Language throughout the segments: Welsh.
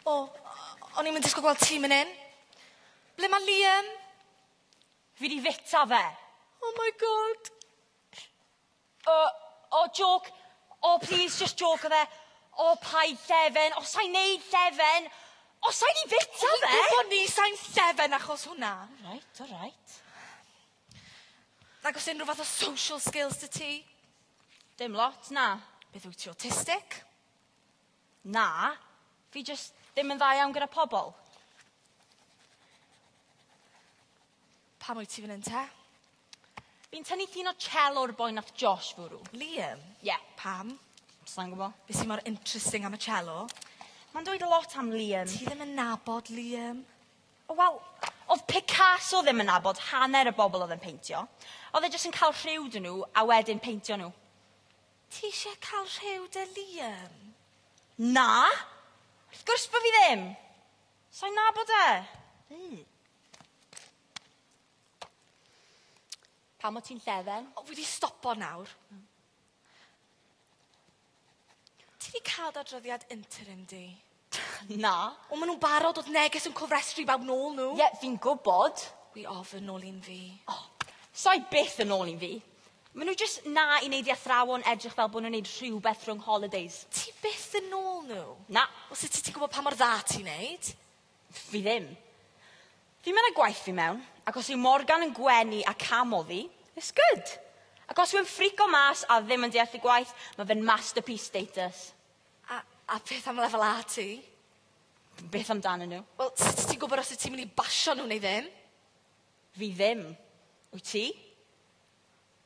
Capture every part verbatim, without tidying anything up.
O, o'n i'n mynd disgwyl gweld ti mynd in. Ble mae Liam? Fi di fita fe. Oh my God. O, oh, joke. O, oh, please, just joke o fe. O, oh, paid llefen. O, sa'n neud llefen. O, sa'n i fita fe. Dwi'n gwybod ni sa'n llefen achos hwnna. All right, all right. Nag oes unrhyw fath o social skills dy ti? Dim lot, na. Beth wyt ti, autistic? Na. Fi just ddim yn dda iawn gyda pobl. Pam wyt ti fan hyn te? Fi'n tynnu llun o cello'r boi nath Josh fwrw. Liam? Ie. Yeah. Pam? Sa'n gwybod. Be sy'n mor interesting am y cello? Mae'n dweud lot am Liam. Ti ddim yn nabod Liam? O, wel, oedd Picasso ddim yn nabod hanner y bobl oedd yn peintio. Oedd e jyst yn cael rhyw dyn nhw a wedyn peintio nhw. Ti eisiau cael rhyw dy Liam? Na! Wrth gwrs bod fi ddim. Sa'n nabod e. Mm. Pam o ti'n llefen? O, fi wedi stopo nawr. Mm. Ti wedi cael dadroddiad interim di? Na. O, maen nhw'n barod oedd neges yn cofrestru bawb nôl nhw. Ie, yeah, fi'n gwybod. Wi ofyn nôl un fi. Oh, sa'i byth yn ôl un fi. Maen nhw jyst na i wneud i athrawon edrych fel bod nhw'n wneud rhywbeth rhwng holidays. Ti byth yn ôl nhw? Na. Wel, sut ti'n gwybod pa mor dda ti'n neud? Fi ddim. Fi'n mynd â gwaith fi mewn, ac os yw Morgan yn gwenu a camo fi, it's good. Ac os yw'n ffrico mas a ddim yn deall y gwaith, mae fe'n masterpiece status. A, a beth am lefel A ti? Beth amdanyn nhw? Wel, sut ti'n gwybod os wyt ti'n mynd i basio nhw neu ddim? Fi ddim. Wyt ti?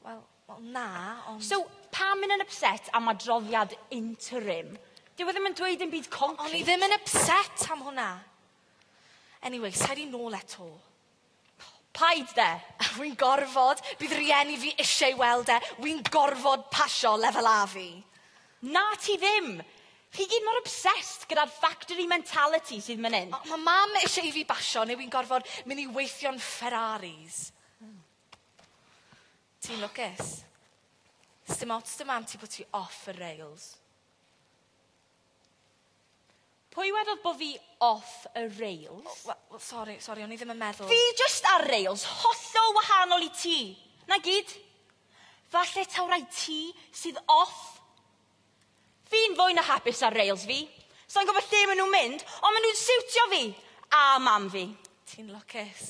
Wel, well, na, ond... So, pam mynd yn upset am adroddiad interim? Dyw e ddim yn dweud dim byd concrete. O'n i ddim yn upset am hwnna. Anyway, sa'i di nôl eto. Paid de. Wy'n gorfod, bydd rieni fi eisiau weld e. Wy'n gorfod pasio lefel A fi. Na ti ddim. Chi gyd mor obsessed gyda'r factory mentality sydd mynd hyn. Mae mam eisiau i fi basio neu wy'n gorfod mynd i weithio'n Ferraris. Mm. Ti'n lwcus. Sdim ots dy mam ti bod ti off y rails. Pwy wedodd bod fi off y rails? Oh, well, well, sorry, sorry, o'n i ddim yn meddwl. Fi just ar rails, hollol wahanol i ti. Na gyd. Falle taw rai ti sydd off. Fi'n fwy na hapus ar rails fi. Sa'n gwybod lle maen nhw'n mynd, ond maen nhw'n siwtio fi. A mam fi. Ti'n lwcus.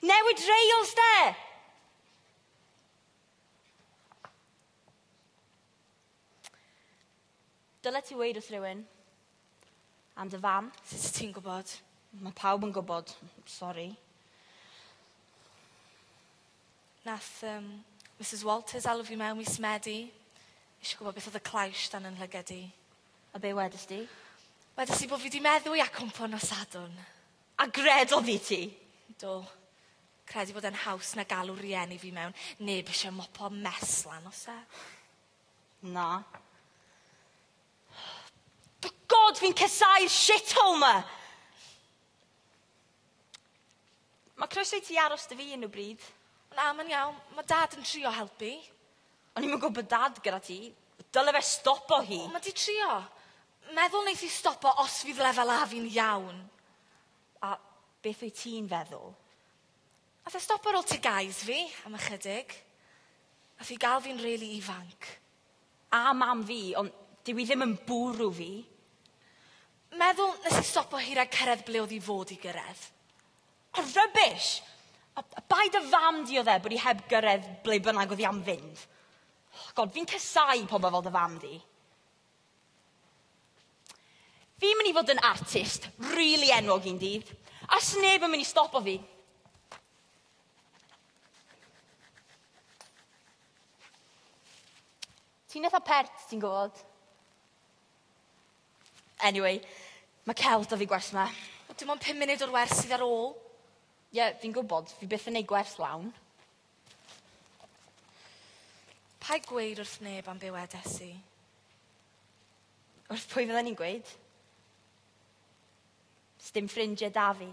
Newid rails de! Dyle ti weud wrth rhywun. Am dy fam. Sut ti'n gwybod? Mae pawb yn gwybod. Sorry. Nath um, Missus Walters alw fi mewn mis Medi. Eisiau gwybod beth oedd y claish dan yn llygad i. A be wedys di? Wedys i bod fi di meddwi a cwmpo nos Sadwrn. A gredodd i ti? Do. Credu bod e'n haws na galw rieni fi mewn. Neb eisiau mopo mess lan os e. Na. God, fi'n casau'r shithole ma! Mae croeso i ti aros dy fi unrhyw bryd. Na, mae'n iawn. Mae dad yn trio helpu. O'n i'm yn gwybod dad gyda ti. Dyle fe stopo hi. O, mae di trio. Meddwl wneith i stopo os fydd lefel A fi'n iawn. A beth wyt ti'n feddwl? Nath e stopo ar ôl T G As fi am ychydig. Nath i gael fi'n rili ifanc. A mam fi, ond dyw i ddim yn bwrw fi. Meddwl nes i stopo hi rhag cyrraedd ble oedd i fod i gyrraedd. O, rubbish! A, a bai dy fam di oedd e bod i heb gyrraedd ble bynnag oedd hi am fynd. Oh, God, fi'n casau pobl fel dy fam di. Fi'n mynd i fod yn artist, really enwog un dydd, a sneb yn mynd i stopo fi. Ti'n eitha pert, ti'n gwybod? Anyway, mae celf da fi gwers yma. Dim ond pum munud o'r wers sydd ar ôl. Ie, yeah, fi'n gwybod, fi byth yn neud gwers lawn. Paid gweud wrth neb am be wedes i. Wrth pwy fydden ni'n gweud? Sdim ffrindiau da fi.